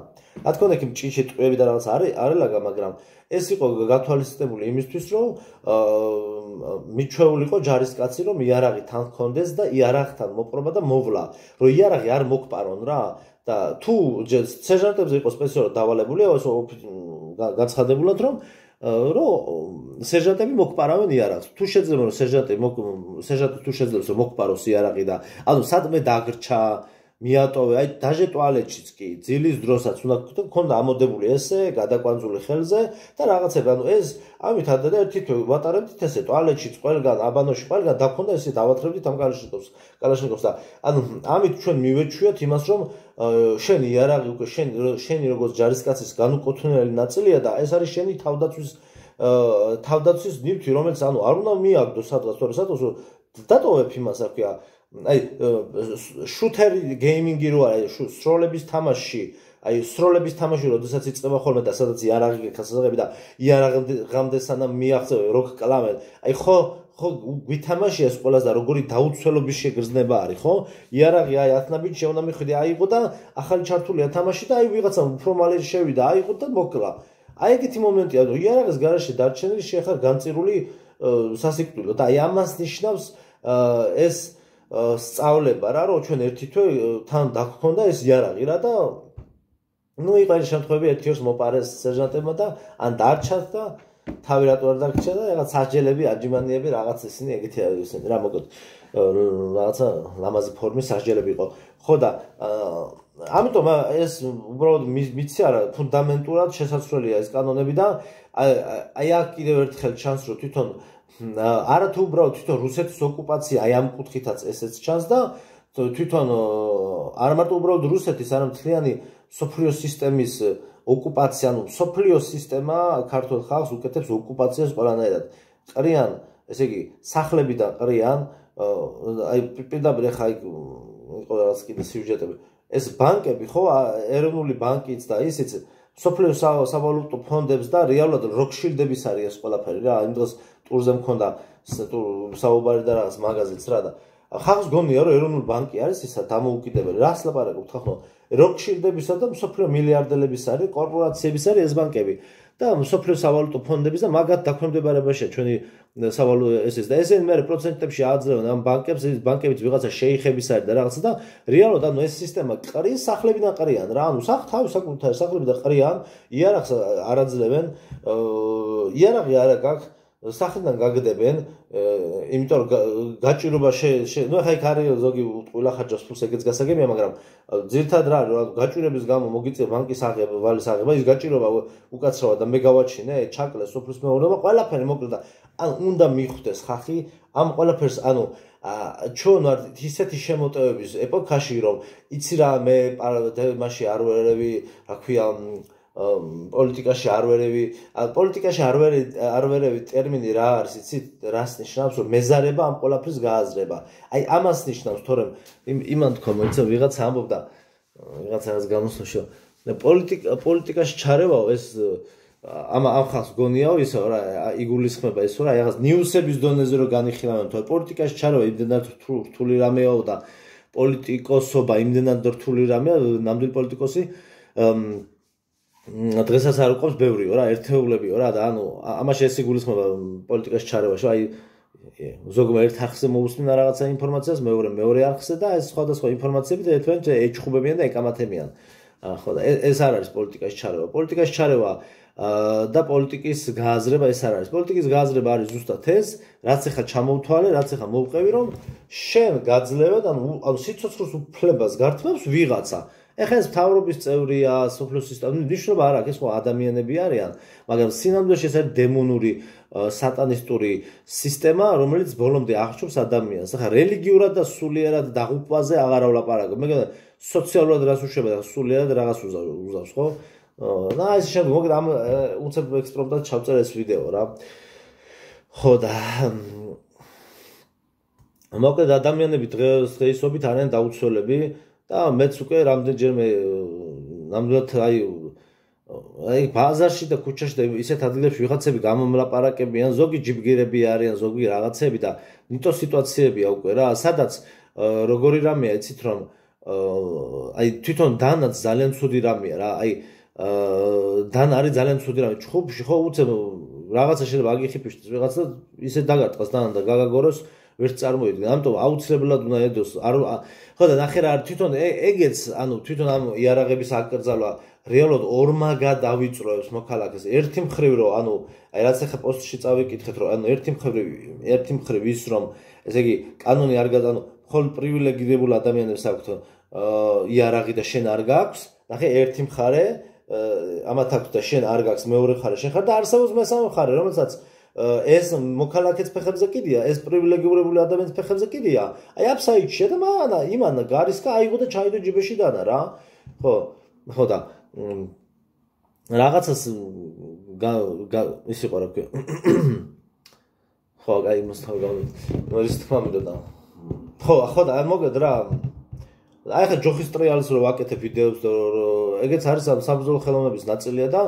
რა თქმა უნდა, ჭიჭე ტყვეები და რაღაც არ ელაგა, მაგრამ ეს იყო გათვალისწინებული იმისთვის, რომ მიჩვეულიყო ჯარისკაცი, რომ იარაღი თან ჰქონდეს და იარაღთან მოპყრობა და მოვლა, რომ იარაღი არ მოგპარონ რა. და თუ სერჟანტებზე იყო სპეციალურად დავალებული, გაცხადებულად, რომ სერჟანტები მოგპარავენ იარაღს. თუ შეძლება რომ სერჟანტი თუ შეძლებს რომ მოგპაროს იარაღი და სადმე დაგრჩა, მიატოვე, აი დაჟე ტუალეტშიც კი, ძილის დროსაც უნდა გქონდა ამოდებული ესე, გადაკვანძული ხელზე და რაღაცები, ეს ამით და ერთი თვე ვატარებდით ესე ტუალეტშიც ყველგან, აბანოში ყველგან დაქონდა ესე დავათრებდით ამ კალაშნიკოვს და ამით ჩვენ მივეჩვიოთ იმას, რომ შენი იარაღი უკვე შენი როგორც ჯარისკაცის განუკუთვნელი ნაწილია და ეს არის შენი თავდაცვის ნივთი, რომელიც არ უნდა მიაგდო სადღაც, თორე სადღაც დატოვებ იმას, რა ქვია, აი შუთერი გეიმინგი რო არის, სროლების თამაში, როდესაც იწყება ხოლმე და სადაც იარაღი გასაღები და იარაღამდე სანამ მიაღწევ როკ კლამენ, აი ხო გვითამაშია ეს ყველას და როგორი დაუცველობის შეგრძნება არის, ხო? იარაღი აი 10 ნაბიჯი უნდა მიხვიდე, აიღო და ახალი ჩართულია თამაში და აი ვიღაცამ უფრო მალე შევიდა, აიღო და მოკლა. აი ეგეთი მომენტია, რომ იარაღის გარშე დარჩენილი შეხარ განწირული სასიკვდილო და აი ამას ნიშნავს ეს სწავლება რა, რომ ჩვენ ერთი თვე თან დაგქონდა ეს იარაღი რა და იყო ეს შემთხვევები ერთ-ერთს მოპარეს სერჟანტებმა და ან დარჩათ და თავი რატო არ დარჩა და რაღაც სასჯელები, აჯიმანიები, რაღაც ისინი ეგეთი არის რა, მოკლედ რაღაცა ლამაზი ფორმის სასჯელები იყო. ხო და ამიტომ ეს უბრალოდ მიცი არა, ფუნდამენტურად შესაძლებელია ეს კანონები და აი აქ კიდევ ერთხელ ჩანს, რომ თვითონ არა თუ უბრალოდ თვითონ რუსეთის ოკუპაცია აი ამ კუთხითაც ესეც ჩანს და თვითონ არა მარტო უბრალოდ რუსეთის, არამედ მთლიანი მსოფლიო სისტემის ოკუპაცია, ანუ სოფლიო სისტემა ქართულ ხალხს უკეთებს ოკუპაციას ყველანაირად. ყრიან, ესე იგი, სახლებიდან ყრიან, აი პირდაპირ ხა იყო რაღაც კიდე სიუჟეტები. ეს ბანკები ხო, ეროვნული ბანკიც და ისიც სოფლიო სავალუტო ფონდებს და რეალურად როკშილდების არის ეს ყველაფერი რა. იმ დღეს ტურზე მქონდა საუბარი და რაღაც მაღაზიაც რა და ხალხს გონია რომ ეროვნული ბანკი არის ისა დამოუკიდებელი. რას ლაპარაკობთ ხო? როკშილდებისა და მსოფლიო მილიარდელების არის კორპორაციების არის ეს ბანკები და მსოფლიო სავალუტო ფონდების და მაგათ დაქვემდებარებაშია ჩვენი სავალუტო ეს და ესენი მე პროცენტებში აძლევენ ამ ბანკებს. ეს ბანკებიც ვიღაცა შეიხების არის და რაღაცა და რეალურად ანუ ეს სისტემა ყრის სახლებიდან ყრიან რა. ანუ თავის საკუთარ სახლებიდან ყრიან, იარაღს არ აძლევენ, იარაღი არ გაქვს სახელიდან გაგდებენ, იმიტომ რომ გაჭირობა ნუ ხა იქ არის ზოგი ყველა ხარჯავს ფულს ეგეც გასაგებია, მაგრამ ძირთად რა გაჭირების გამო მოგიწევ ბანკის აღება, ვალის აღება, ის გაჭირობა უკაცრავად და მე გავაჩინე, ჩაკლეს სოფლის მეურნეობა, ყველაფერი მოკლედ და ან უნდა მიხვდეს ხალხი ამ ყველაფერს, ანუ ჩვენ ვართ ისეთი შემოტევების ეპოქაში, რომ იცი რა მე მაშინ არ ვერევი, რა ქვია პოლიტიკაში არ ვერევი ტერმინი რა არის, იცით, რას ნიშნავს, რომ მეზარება ამ ყველაფრის გააზრება. აი ამას ნიშნავს, თორემ იმან თქვა, მოიცა ვიღაცა ამბობდა, ვიღაცა რაღაც გამოსვლაში, პოლიტიკაში ჩარევაო ეს ამ ხალხს გონიაო ისო რა, იგულისხმება ისო რა, რაღაც ნიუსების დონეზე რომ განიხილავენ, თორე პოლიტიკაში ჩარევა იმდენად რთული რამეაო და პოლიტიკოსობა იმდენად რთული რამეა, ნამდვილი პოლიტიკოსი დღესაც არ უყავს ბევრიო რა, ერთეულებიო რა და ანუ ამაში ეს იგულისხმება პოლიტიკაში ჩარევაში, აი ზოგმა ერთ არხზე მოусმინა რაღაცა ინფორმაციას, მეორე არხზე და ეს სხვადასხვა ინფორმაციები და ერთმანეთს ეჩხუბებიან და ეკამათებიან. ხო და ეს არ არის პოლიტიკაში ჩარევა. პოლიტიკაში ჩარევა და პოლიტიკის გააზრება ეს არ არის. პოლიტიკის გააზრება არის ზუსტად ეს, რაც ახლა ჩამოვთვალე, რაც ახლა მოვყევი, რომ შენ გაძლევად, ანუ სიცოცხლის უფლებას გართმევს ვიღაცა. ეხლა ეს მთავრობის წევრია, სოფლიო სისტემა, ნიშნობა არ აქვს, ეს ხო ადამიანები არიან, მაგრამ სინამდვილეში ეს არის დემონური, სატანისტური სისტემა, რომელიც ბოლომდე აღჭურვს ადამიანს. ახლა რელიგიურად და სულიერად დაღუპვაზე აღარ ვლაპარაკობ. მე გქონდა სოციალურად რას უშვება და სულიერად რაღაც უზავს, ხო? და ეს შემდგომ მოგეთ ამ უცებ ექსპრომტად ჩავწერე ეს ვიდეო რა. ხო და მოკლედ ადამიანები დღეისობით არიან დაუცველები და მეც უკვე რამდენჯერმე ნამდვილად აი ბაზარში და ქუჩაში და ისეთ ადგილებში ვიღაცები გამომლაპარაკებიან, ზოგი ჯიბგირები არიან, ზოგი რაღაცები და ნიტო სიტუაციებია უკვე რა, სადაც როგორი რამეა, იცით რომ აი თვითონ დანაც ძალიან ცუდი რამეა რა, აი დან არის ძალიან ცუდი რამე, ჩხუბში ხო უცებ რაღაცა შეიძლება აგიხიფიშდეს ვიღაცა ისე დაგარტყას დან და გაგაგოროს ვერ წარმოიდგენ. ამიტომ აუცილებლად უნდა ედოს. ხო და ნახე რა თვითონ ეგეც, ანუ თვითონ ამ იარაღების აკრძალვა რეალურად ორმაგად დავიწროებს მოქალაქეს. ერთი მხრივ რომ ანუ აი რაც ახლა პოსტში წავიკითხეთ რომ ანუ ერთი მხრივ ის რომ ესე იგი კანონი არ ანუ მხოლოდ პრივილეგირებულ ადამიანებს აქვთ იარაღი და შენ არ გაქვს. ნახე ერთი მხარე ამათ აქვს და შენ არ გაქვს, მეორე მხარე შენ ხარ და არსებობს მესამე მხარე, რომელსაც ეს მოქალაქეც ფეხებზე კიდია, ეს პრივილეგირებული ადამიანის ფეხებზე კიდია. აი აფსაიდშია და იმან გარისკა აიღო და ჩაიდო ჯიბეში დანა რა. ხო და რაღაცას ის იყო რა ქვია. ხო, აი მოსთავ ის თქმა მინდოდა. ხო და მოგედ რა. აი ხა ჯოხის ტრიალს რო ვაკეთებ ვიდეოებს და ეგეც არის საბრძოლო ხელოვნების ნაწილია და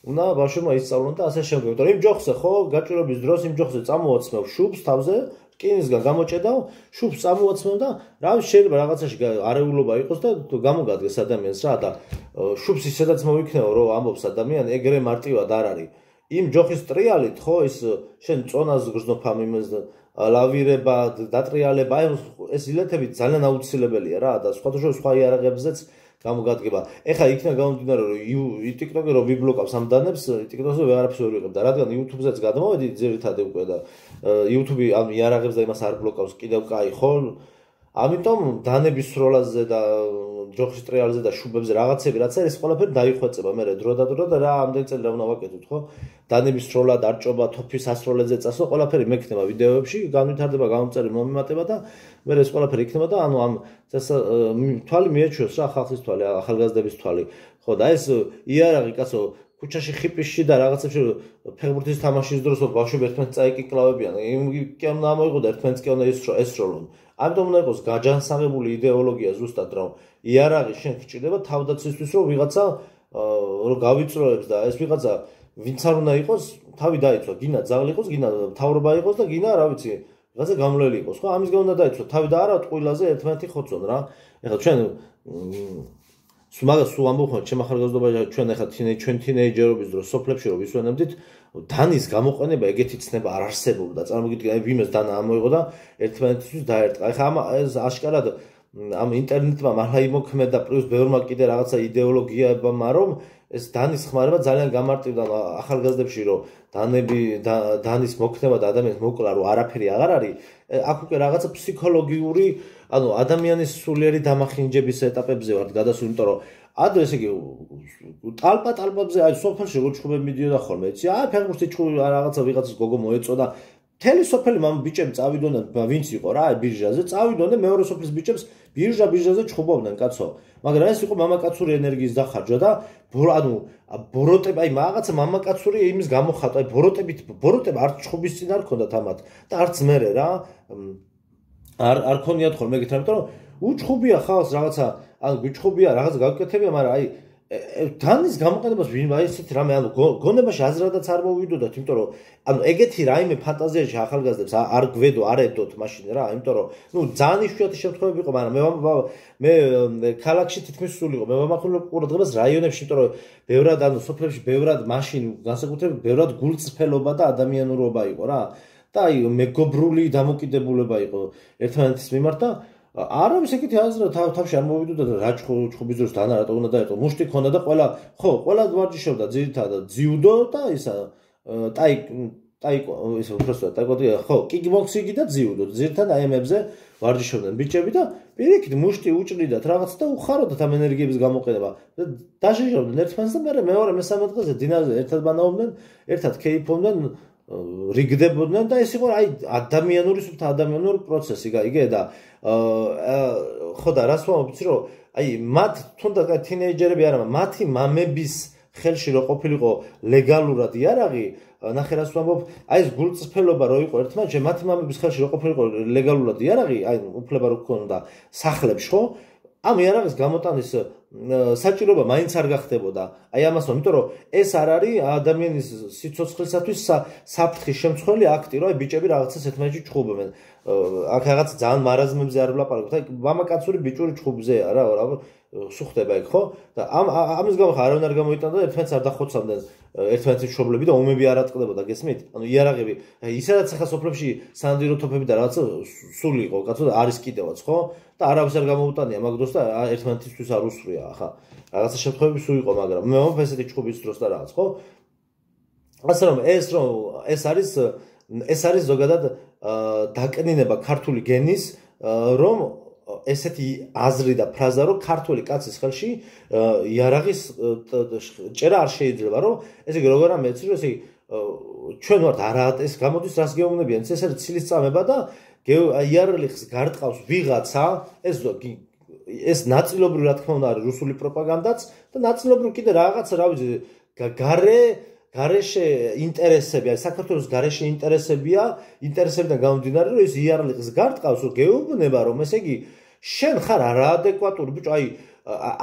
უნდა ბავშვებმა ისწავლონ და ასე შემდეგ. იმიტომ რომ იმ ჯოხზე ხო გაჭირობის დროს იმ ჯოხზე წამოაცმევ შუბს თავზე, რკინისგან გამოჭედავ, შუბს წამოაცმევ და რა შეიძლება რაღაცაში არეულობა იყოს და გამოგადგეს ადამიანს რა და შუბს ისედაც მოიქნეო რომ ამბობს ადამიანი, ეგრე მარტივად არ არის. იმ ჯოხის ტრიალით ხო ის შენ წონას გრძნობ ამ იმას ლავირება, დატრიალება, ეს ილეთები ძალიან აუცილებელია რა და სხვა იარაღებზეც გამოგადგება. ეხლა იქნა გამომდინარე რომ TikTok-ი რო ვიბლოკავს ამ დანებს, TikTok-ზე ვეღარაფერს ვერ ვიღებ და რადგან YouTube-ზეც გადმოვედი ძირითადად უკვე და YouTube-ი ამ იარაღებს და იმას არ ბლოკავს, კიდევ კაი ხო? ამიტომ დანების სროლაზე და ჯოხის ტრიალზე და შუბებზე რაღაცები რაც არის ყველაფერი დაიხვეწება მე დრო და რა ამდენ წელი რა უნდა ვაკეთოთ ხო დანების სროლა დარჭობა თოფის ასროლებზე წასვლა ყველაფერი მექნება ვიდეოებში განვითარდება გამომწერი მომემატება და მე ეს ყველაფერი იქნება და ანუ ამ თვალი მიეჩვევს რა ხალხის თვალი ახალგაზრდების თვალი ხო და ეს იარაღი კაცო ქუჩაში ხიპისში და რაღაცებში ფეხბურთის თამაშის დროს ბავშვები ერთმანეთს წაიკიკლავებიან კი უნდა ამოიღო და ერთმანეთს კი უნდა ესროლონ ამიტომ უნდა იყოს გაჯანსაღებული იდეოლოგია ზუსტად რომ იარაღი შენ გჭირდება თავდაცვისთვის რომ ვიღაცა რომ გავიწროებს და ეს ვიღაცა ვინც არ უნდა იყოს თავი დაიცვა გინა ძაღლი იყოს გინა მთავრობა იყოს და გინა რა ვიცი ვიღაცა გამლელი იყოს ხო ამის გამო უნდა დაიცვა თავი და არა ტყუილაზე ერთმანეთი ხოცონ რა ეხლა ჩვენ მაგას სულ ამბობთ ჩემ ახალგაზრდობაში ჩვენ ახლა ჩვენ თინეიჯერობის დროს სოფლებში რომ ვისვენებდით დანის გამოყენება ეგეთი ცნება არ არსებობდა წარმოგიდგენთ აი ვინმეს დანა ამოიღო და ერთმანეთისთვის დაერტყა ეხლა ეს აშკარად ამ ინტერნეტმა მართლა იმოქმედა პლუს ბევრმა კიდე რაღაცა იდეოლოგიებმა რომ ეს დანის ხმარება ძალიან გამარტივდა ახალგაზრდებში რომ დანის მოქმედება და ადამიანის მოკლა რომ არაფერი აღარ არის აქ უკვე რაღაცა ფსიქოლოგიური ანუ ადამიანის სულიერი დამახინჯების ეტაპებზე ვართ გადასული იმიტომ რომ ადრე ესე იგი ტალპებზე აი სოფელში როგორ ჩხუბები მიდიოდა ხოლმე იცი აი ფეხბურთი ჩხუბი რაღაცა ვიღაცას გოგო მოეწოდა მთელი სოფელი მამ ბიჭები წავიდონ და ვინც იყო რა აი ბირჟაზე წავიდონ და მეორე სოფლის ბიჭებს ბირჟაზე ჩხუბობდნენ კაცო მაგრამ ეს იყო მამაკაცური ენერგიის დახარჯვა და ანუ ბოროტები აი რაღაცა მამაკაცური იმის გამოხატვა აი ბოროტები არც ჩხუბის წინ არ ქონდათ ამათ და არც მერე რა არ ქონიათ ხოლმე ეგეთ რამე, რომ უჩხუბია ხალხს რაღაცა, ანუ გიჩხუბია რაღაც გავკეთებია, მაგრამ აი დანის გამოყენებას ვინ აი ესეთი რამე, ანუ გონებაში აზრადაც არ მოვიდოდათ, იმიტომ რომ ანუ ეგეთი რაიმე ფანტაზიაში ახალგაზრდებს არ გვედო, არ ედოთ მაშინ რა, იმიტომ რომ ნუ ძალიან იშვიათი შემთხვევები იყო, მაგრამ მე ქალაქში თითქმის სულ იყო, მე ვამახვილებ ყურადღებას რაიონებში, იმიტომ რომ ბევრად ანუ სოფლებში ბევრად მაშინ განსაკუთრებით ბევრად გულწრფელობა და ადამიანურობა იყო რა. და აი მეგობრული დამოკიდებულება იყო ერთმანეთის მიმართ და არავის ეგეთი აზრი თავში არ მოვიდოდა და რა ჩხუბის დროს დანა რატო უნდა დაერტყო მუშტი ქონდა და ყველა ვარჯიშობდა ძირითადად ძიუდო და ისა ტაიკო ისე უბრალოდ ტაიკოდი ხო კიკბოქსინგი და ძიუდო ძირითადად აი ამებზე ვარჯიშობდნენ ბიჭები და პირიქით მუშტი უჭრიდათ რაღაც და უხაროდათ ამ ენერგიების გამოყენება და დაშეშობდნენ ერთმანეთს და მეორე მესამე დღეზე დინაზე ერთად ბანაობდნენ ერთად კეიფობდნენ რიგდებოდნენ და ეს იყო აი ადამიანური პროცესი გაიგე და ხო და რას ვამბობ იცი რომ აი მათ თუნდაც თინეიჯერები არა მათი მამების ხელში რო ყოფილიყო ლეგალურად იარაღი ნახე რას ვამბობ აი ეს გულწრფელობა რო იყო ერთმანეთში მათი მამების ხელში რო ყოფილიყო ლეგალურად იარაღი აი უფლება რო ქონდა სახლებში ხო ამ იარაღის გამოტანის საჭიროება მაინც არ გახდებოდა. აი ამასო, იმიტომ რომ ეს არ არის ადამიანის სიცოცხლისათვის საფრთხის შემცვლელი აქტი, რომ აი ბიჭები რაღაცას ერთმანეთში ჩხუბობენ. აქ რაღაც ძალიან მარაზმებზე არ ვლაპარაკობთ. აი მამაკაცური ბიჭური ჩხუბზეა რა, სუხდება იქ, ხო? და ამის გამო არავინ არ გამოიტანდა და ერთმანეთს არ დახოცავდნენ ერთმანეთის მშობლები და ომები არ ატყდებოდა, გესმით? ანუ იარაღები, ისედაც ახლა სოფლებში სანადირო თოფები და რაღაცა სული იყო, კაცო და არის კიდევაც, ხო? და არავის არ გამოუტანია მაგ დროს და ერთმანეთისთვის არ უსვრია ახლა. რაღაცა შემთხვევები სულ იყო, მაგრამ მე ვამბობ ესეთი ჩხუბის დროს და რაღაც, ხო? ასე რომ ეს არის ზოგადად დაკნინება ქართული გენის, რომ ესეთი აზრი და ფრაზა რომ ქართული კაცის ხელში იარაღის ჭერა არ შეიძლება რომ ესე იგი როგორ ამეცი რომ ესე იგი ჩვენ ვართ არა ეს გამოდის რას გეუბნებიან ეს არის ცილის წამება და იარაღის გარტყავს ვიღაცა ეს ნაწილობრივ რა თქმა უნდა არის რუსული პროპაგანდაც და ნაწილობრივ კიდე რაღაცა რა ვიცი გარეშე ინტერესები, აი საქართველოს გარეშე ინტერესებიდან გამომდინარე, რომ ეს იარაღის გარტყავს, რომ გეუბნება, რომ ესე იგი შენ ხარ არაადეკვატური, ბიჭო, აი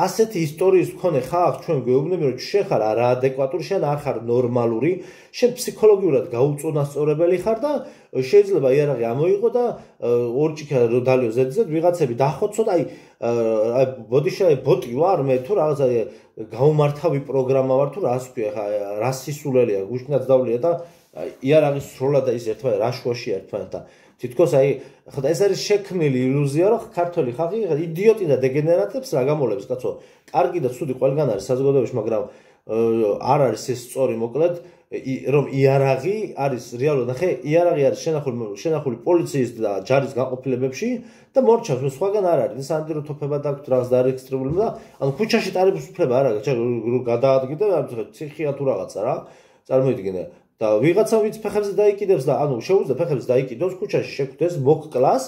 ასეთი ისტორიის მქონე ხალხს ჩვენ გეუბნები, რომ შენ ხარ არაადეკვატური, შენ არ ხარ ნორმალური, შენ ფსიქოლოგიურად გაუწონასწორებელი ხარ და შეიძლება იარაღი ამოიღო და ორჭიქა რო დალიო ზედზე ვიღაცები დახოცო და აი ბოტი ვარ მე თუ რაღაცა გაუმართავი პროგრამა ვარ თუ რას ქვია ხა რა სისულელია გუშინაც დავლია და იარაღის სროლა და ის ერთმანეთს რაშუაში ერთმანეთთან თითქოს აი ხა ეს არის შექმნილი ილუზია რომ ქართული ხალხი იდიოტი და დეგენერატებს რა გამოლებს კაცო კარგი და ცუდი ყველგან არის საზოგადოებაში მაგრამ არ არის ეს სწორი მოკლედ რომ იარაღი არის რეალურად ნახე იარაღი არის შენახული პოლიციის და ჯარის გაყოფილებებში და მორჩავს მე სხვაგან არ არის სანდრო თოფება დაგვთ რაღაც დარეგისტრირებული და ანუ ქუჩაში ტარების უფლება არ აქვს გადაადგინდა ციხია თუ რაღაცა რა წარმოიდგინე და ვიღაცა ვიც ფეხებზე დაიკიდებს და ანუ შეუძლია ფეხებზე დაიკიდოს ქუჩაში შეკვდეს მოკკლას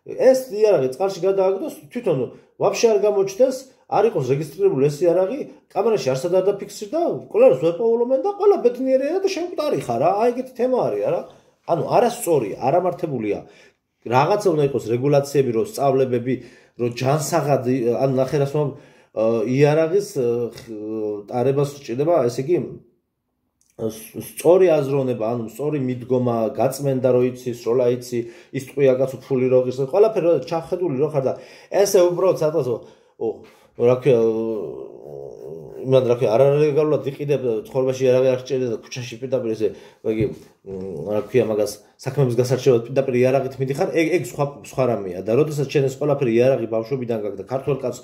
ეს იარაღი წყალში გადააგდოს თვითონ ვაფშე არ გამოჩნდეს არ იყოს რეგისტრირებული ეს იარაღი კამერაში არსად არ დაფიქსირდა ყველას ვეპოულობენ და ყველა ბედნიერია და შემკვდარი ხარ რა აი ეგეთი თემა არის არა ანუ არასწორია არამართებულია რაღაცა უნდა იყოს რეგულაციები რო სწავლებები რო ჯანსაღად ანუ ნახე რას იარაღის ტარებას ჭირდება ესე იგი სწორი აზროვნება, ანუ სწორი მიდგომა, გაწმენდა რო იცი, სროლა იცი, ის ტყვია კაცო ფული რო ღირს, ყველაფერი ჩახედული რო ხარ და ესე უბრალოდ სადღაც რა ქვია იმან რა ქვია არარეგულარულად იყიდებ ცხოვრებაში იარაღი არ სჭირდება და ქუჩაში პირდაპირ ესე იგი რა ქვია მაგას საქმეების გასარჩევად პირდაპირ იარაღით მიდიხარ ეგ სხვა რამეა და როდესაც შენ ეს ყველაფერი იარაღი ბავშვობიდან გაქვს და ქართველ კაცს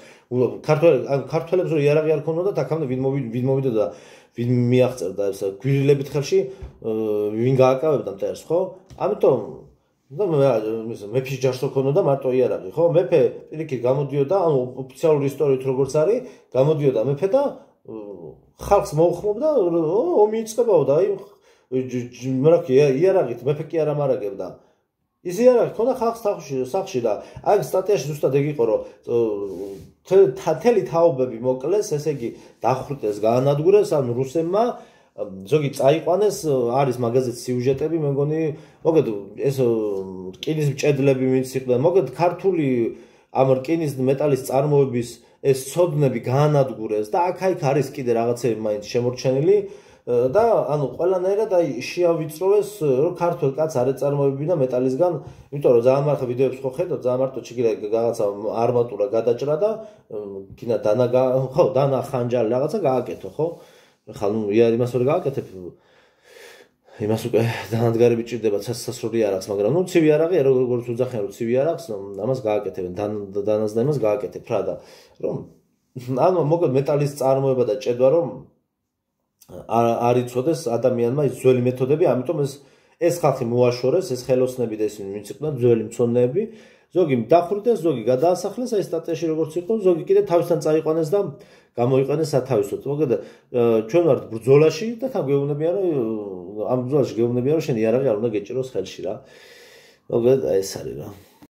ქართველებს რო იარაღი არ ქონოდათ აქამდე ვინ მოვიდა და ვინ მიაღწევდა ეს გვირილებით ხელში ვინ გააკავებდა მტერს ხო ამიტომ და მეფის ჯარს ქონოდა მარტო იარაღი ხო მეფე პირიქით გამოდიოდა ანუ ოფიციალური ისტორიით როგორც არის გამოდიოდა მეფე და ხალხს მოუხმობდა ომი იწყებოდა აი რა ქვია იარაღით მეფე კი არ ამარაგებდა ის იარაღი ქონდა ხალხს სახში და აი სტატიაში ზუსტად ეგ იყო რომ თელი თაობები მოკლეს ესე იგი დახვრიტეს გაანადგურეს ანუ რუსებმა ზოგი წაიყვანეს არის მაგაზეთ სიუჟეტები მე მგონი მოგეთ ეს რკინის მჭედლები ვინც იყვნენ მოგეთ ქართული ამ რკინის მეტალის წარმოების ეს ცოდნები გაანადგურეს და აქ-აქ არის კიდე რაღაცები მაინც შემორჩენილი და ანუ ყველანაირად აი შეავიწროვეს რომ ქართულ კაც არ ეწარმოებინა მეტალისგან იმიტომ რომ ძალიან მარტო ვიდეოებს ხო ხედავ ძალიან მარტო ჩიგირა რაღაცა არმატურა გადაჭრა და კინა დანა ხანჯალი რაღაცა გააკეთო ხო ხა ნუ იმას ვერ გააკეთებ იმას უკვე დანადგარები ჭირდება სასასრული იარაღს მაგრამ ნუ ცივი იარაღი როგორც უძახიან რომ ცივი იარაღს ამას გააკეთებენ დანას და იმას გააკეთებ რა და რომ ანუ მოგეთ მეტალის წარმოება და ჭედვა რომ არ იცოდეს ადამიანმა ის ძველი მეთოდები ამიტომ ეს ხალხი მოაშორეს ეს ხელოსნები და ისინი ვინც იყვნენ ძველი მცოდნეები ზოგი დახვრიტეს ზოგი გადაასახლეს აი სტატიაში როგორც იყო ზოგი კიდე თავისთან წაიყვანეს და გამოიყენეს სათავისოდ მოგეთ ჩვენ ვართ ბრძოლაში და თან გეუბნებიან რომ ამ ბრძოლაში გეუბნებიან რომ შენ იარაღი არ უნდა გეჭიროს ხელში რა მოგეთ აი ეს არის რა